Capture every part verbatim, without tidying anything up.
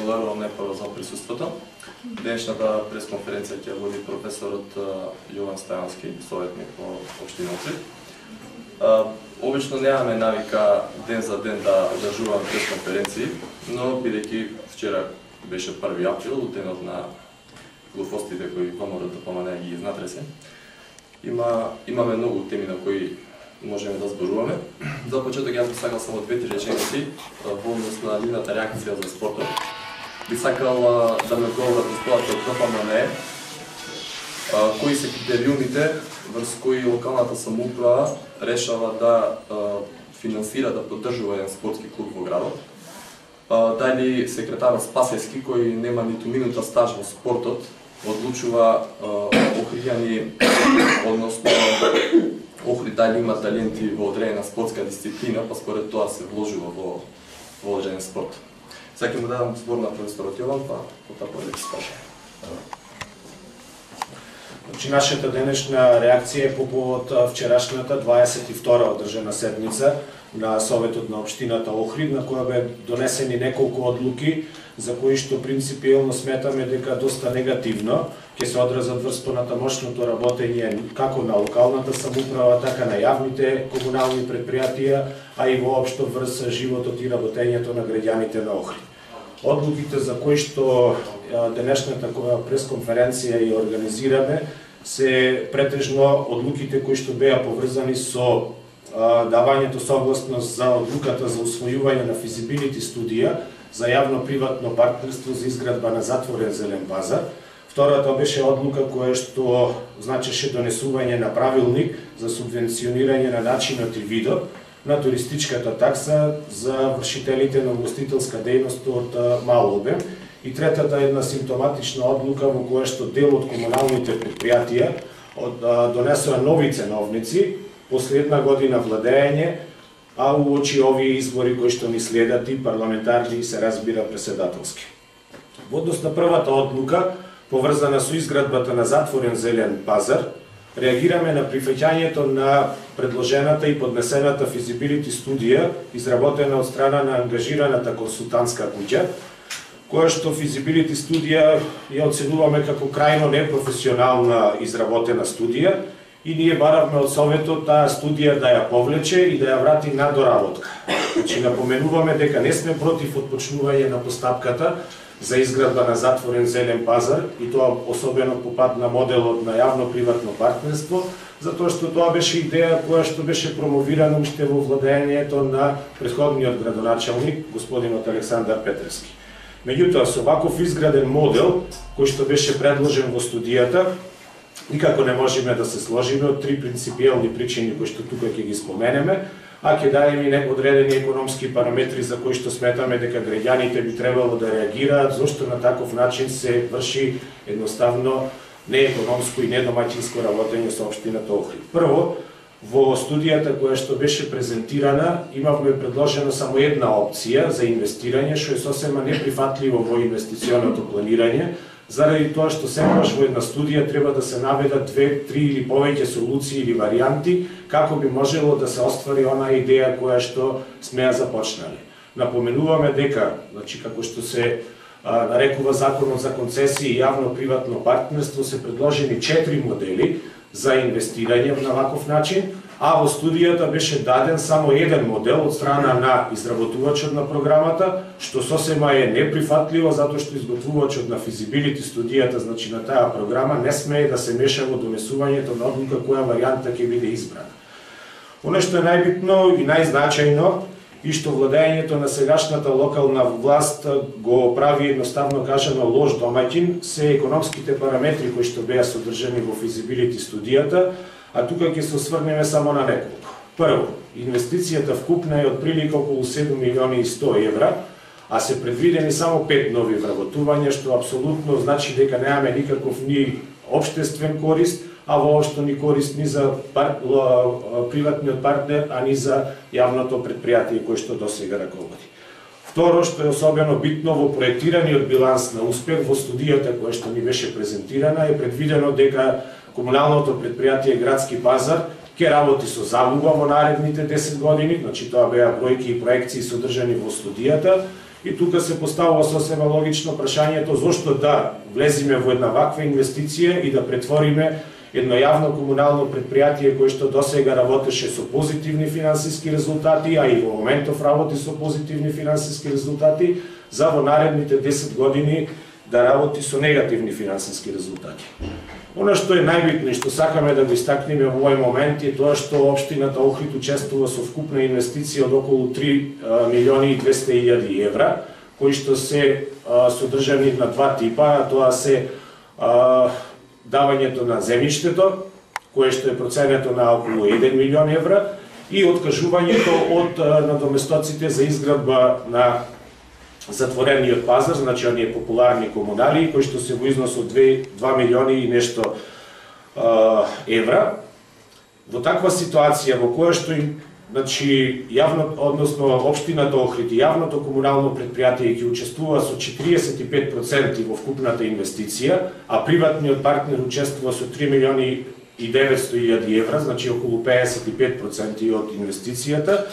благодарувам најпрво за присуството. Денешната пресконференција ќе води професорот Јован Стајански, советник во општина Охрид. Обично немаме навика ден за ден да одржуваме пресконференции, но бидејќи вчера беше први април, денот на глупостите кои ВМРО да помане ги изнатресе, има имаме многу теми на кои можеме да зборуваме. За почеток јас би сакал само две-три реченици во однос на нивната реакција за спортот. Би сакал да ме говорат господата од КПМН кои се критериумите врз кои локалната самоуправа решава да финансира, да поддржува еден спортски клуб во градот. Дали секретарот Спасевски, кој нема ниту минута стаж во спортот, одлучува охријани, односно Охрид дали има таленти во одредена спортска дисциплина, па според тоа се вложува во во одреден спорт. Сега ќе му дадам збор на професорот Јован, па потоа ќе се скаже. Значи, нашата денешна реакција е по повод вчерашната дваесет и втора одржана седница на Советот на општината Охрид, на која бе донесени неколку одлуки за кои што принципиелно сметаме дека доста негативно ќе се одразат врз понатамошното работење како на локалната самоуправа, така на јавните комунални предпријатија, а и воопшто врз животот и работењето на граѓаните на Охрид. Одлуките за кои што денешната пресконференција ја организираме се претежно одлуките кои што беа поврзани со давањето согласност за одлуката за усвојување на физибилити студија за јавно-приватно партнерство за изградба на затворен зелен пазар. Втората беше одлука која што значеше донесување на правилник за субвенционирање на начинот и видот на туристичката такса за вршителите на угостителска дејност од мал обем. И третата е една симптоматична одлука во која што дел од комуналните предпријатија донесоа нови ценовници после една година владење, а уочи овие избори кои што ни следат и парламентарни и се разбира преседателски. Во однос на првата одлука, поврзана со изградбата на затворен зелен пазар, реагираме на прифаќањето на предложената и поднесената физибилити студија, изработена од страна на ангажираната консултантска куќа, која што физибилити студија ја оценуваме како крајно непрофесионална изработена студија, и ние баравме од Советот таа студија да ја повлече и да ја врати на доработка. Значи, напоменуваме дека не сме против отпочнување на постапката за изградба на затворен зелен пазар, и тоа особено по пат на моделот на јавно-приватно партнерство, затоа што тоа беше идеја која што беше промовирана уште во владењето на претходниот градоначалник, господинот Александар Петревски. Меѓутоа, со ваков изграден модел, кој што беше предложен во студијата, никако не можеме да се сложиме од три принципиелни причини кои што тука ќе ги споменеме, а ќе дадеме и одредени економски параметри за кои што сметаме дека граѓаните би требало да реагираат, зашто на таков начин се врши едноставно неекономско и недомаќинско работење со општината Охрид. Прво, во студијата која што беше презентирана, имавме предложена само една опција за инвестирање, што е сосема неприфатливо во инвестиционото планирање, заради тоа што секогаш во една студија треба да се наведат две, три или повеќе солуции или варијанти како би можело да се оствари онаа идеја која што сме ја започнале. Напоменуваме дека, значи како што се а, нарекува Законот за концесии и јавно-приватно партнерство, се предложени четири модели за инвестирање на ваков начин, а во студијата беше даден само еден модел од страна на изработувачот на програмата, што сосема е неприфатливо, затоа што изготвувачот на физибилити студијата, значи на таа програма, не смее да се меша во донесувањето на одлука која варијанта ќе биде избрана. Оно што е најбитно и најзначајно, и што владењето на сегашната локална власт го прави едноставно кажано лош домаќин, се економските параметри кои што беа содржани во физибилити студијата, а тука ќе се осврнеме само на неколку. Прво, инвестицијата вкупна е од прилика околу седум милиони и сто евра, а се предвидени само пет нови вработувања, што апсолутно значи дека немаме никаков ни општествен корист, а воопшто ни корист ни за пар... приватниот партнер, а ни за јавното предпријатие кој што досега раководи. Второ, што е особено битно во проектираниот биланс на успех во студијата која што ни беше презентирана, е предвидено дека комуналното предпријатие Градски пазар ќе работи со загуба во наредните десет години, значи тоа беа бројки и проекции содржани во студијата, И тука се поставува сосема логично прашањето зошто да влезиме во една ваква инвестиција и да претвориме едно јавно комунално предпријатие кое што досега работеше со позитивни финансиски резултати, а и во моментов работи со позитивни финансиски резултати, за во наредните десет години да работи со негативни финансиски резултати. Она што е најбитно и што сакаме да го истакнеме во овој момент е тоа што општината Охрид учествува со вкупна инвестиција од околу три милиони и двесте илјади евра, кои што се а, содржани на два типа, а тоа се а, давањето на земјиштето, кое што е проценето на околу еден милион евра, и откажувањето од надоместоците за изградба на затворениот пазар, значи оние популарни комунали, кои што се во износ од два милиони и нешто а, евра. Во таква ситуација во која што им, значи, јавно, односно општината Охрид и јавното комунално предпријатие ќе учествува со четириесет и пет проценти во вкупната инвестиција, а приватниот партнер учествува со три милиони и деветсто илјади евра, значи околу педесет и пет проценти од инвестицијата,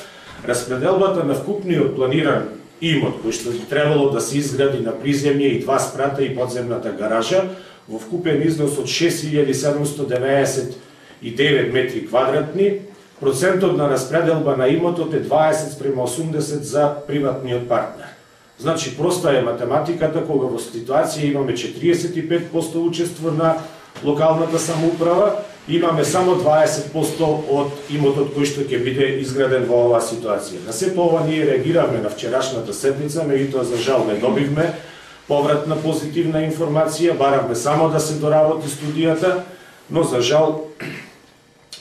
распределбата на вкупниот планиран имот, кој што би требало да се изгради на приземје и два спрата и подземната гаража, во вкупен износ од шест илјади седумсто деветдесет и девет метри квадратни, процентот на распределба на имотот е дваесет спрема осумдесет за приватниот партнер. Значи, проста е математиката, кога во ситуација имаме четириесет и пет проценти учество на локалната самоуправа, имаме само дваесет проценти од имотот кој што ќе биде изграден во оваа ситуација. На сето ова ние реагиравме на вчерашната седница, меѓутоа за жал не добивме повратна позитивна информација, баравме само да се доработи студијата, но за жал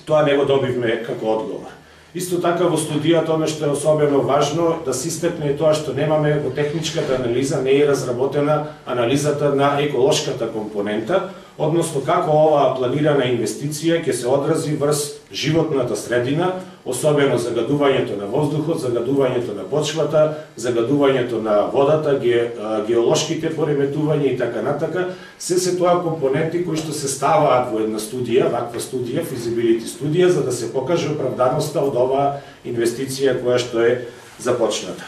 тоа не го добивме како одговор. Исто така во студијата она што е особено важно да се истакне тоа што немаме во техничката анализа, не е разработена анализата на еколошката компонента, односно како оваа планирана инвестиција ќе се одрази врз животната средина, особено загадувањето на воздухот, загадувањето на почвата, загадувањето на водата, ге, геолошките пореметувања и така натака, се се тоа компоненти кои што се ставаат во една студија, ваква студија, feasibility студија, за да се покаже оправданоста од оваа инвестиција која што е започната.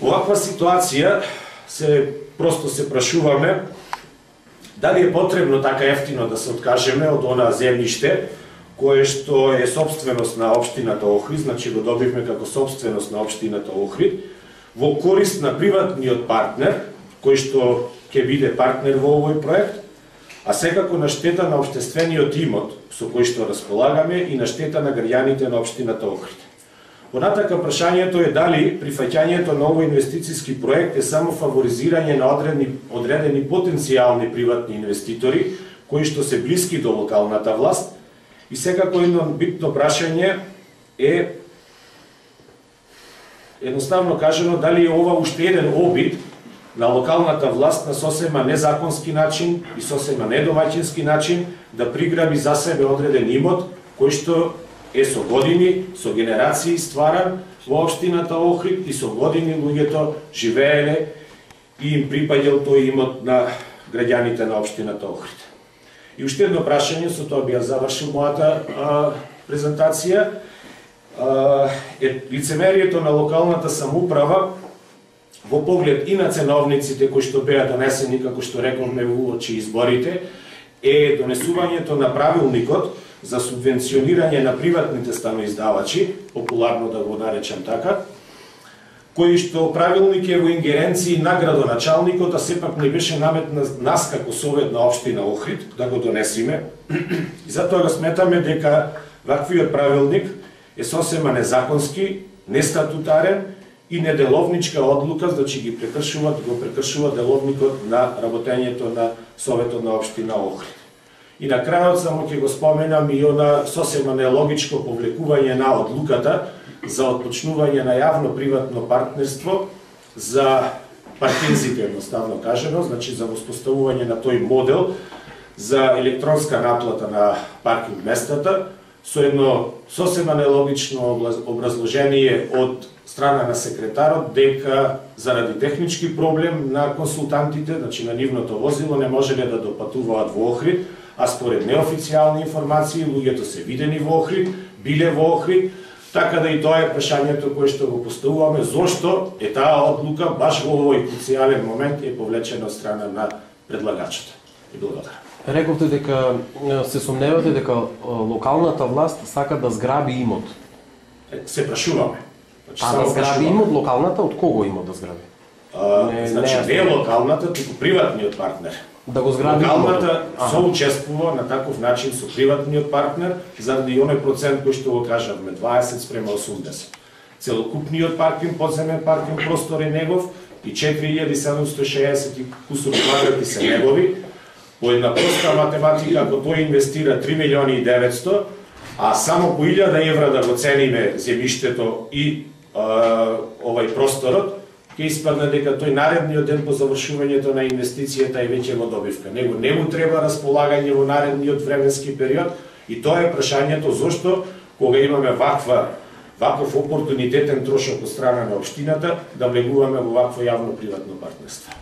Оваква ситуација се просто се прашуваме дали е потребно така ефтино да се откажеме од она земјиште кое што е собственост на општината Охрид, значи го добивме како собственост на општината Охрид, во корист на приватниот партнер, кој што ќе биде партнер во овој проект, а секако на штета на општествениот имот со кој што располагаме и на штета на граѓаните на општината Охрид. Понатака прашањето е дали прифаќањето на овој инвестициски проект е само фаворизирање на одредени, одредени потенцијални приватни инвеститори кои што се блиски до локалната власт. И секако едно битно прашање е едноставно кажано дали е ова уште еден обид на локалната власт на сосема незаконски начин и сосема недомаќински начин да приграби за себе одреден имот кој што е со години, со генерации стваран во општината Охрид и со години луѓето живееле и им припаѓал тој имот на граѓаните на општината Охрид. И уште едно прашање, со тоа би ја завршил мојата а, презентација, а, е лицемерието на локалната самоуправа во поглед и на ценовниците кои што беа донесени, како што рековме во уочи изборите, е донесувањето на правилникот за субвенционирање на приватните станоиздавачи, популарно да го наречам така, кој што правилник е во ингеренции на градоначалникот, а сепак не беше намет на нас како совет на општина Охрид да го донесиме. И затоа го сметаме дека ваквиот правилник е сосема незаконски, нестатутарен и неделовничка одлука, значи ги прекршува, го прекршува деловникот на работењето на советот на општина Охрид. И на крајот само ќе го споменам и она сосема нелогичко повлекување на одлуката за отпочнување на јавно-приватно партнерство за паркинзите, едноставно кажено, значи за воспоставување на тој модел за електронска наплата на паркинг местата, со едно сосема нелогично образложение од страна на секретарот дека заради технички проблем на консултантите, значи на нивното возило, не можеле да допатуваат во Охрид, а според неофицијални информации луѓето се видени во Охрид, биле во Охрид, Така да и тоа е прашањето кое што го поставуваме, зошто е таа одлука баш во овој круцијален момент е повлечена од страна на предлагачот. И благодарам. Рековте дека се сомневате дека локалната власт сака да зграби имот. Се прашуваме. Значи, а да зграби имот локалната, од кого имот да зграби? А, не, значи не е локалната, туку приватниот партнер. Да го зграби локалната соучествува на таков начин со приватниот партнер заради оној процент кој што го кажавме, дваесет спрема осумдесет. Целокупниот паркинг, подземен паркинг простор е негов и четири илјади седумстотини и шеесет кусур квадрати се негови. По една проста математика, ако тој инвестира три милиони и деветстотини, а само по илјада евра да го цениме земјиштето и а, овај просторот, ќе испадне дека тој наредниот ден по завршувањето на инвестицијата е веќе во добивка. Него не му треба располагање во наредниот временски период и тоа е прашањето зошто кога имаме ваква ваков опортунитетен трошок од страна на општината да влегуваме во вакво јавно-приватно партнерство.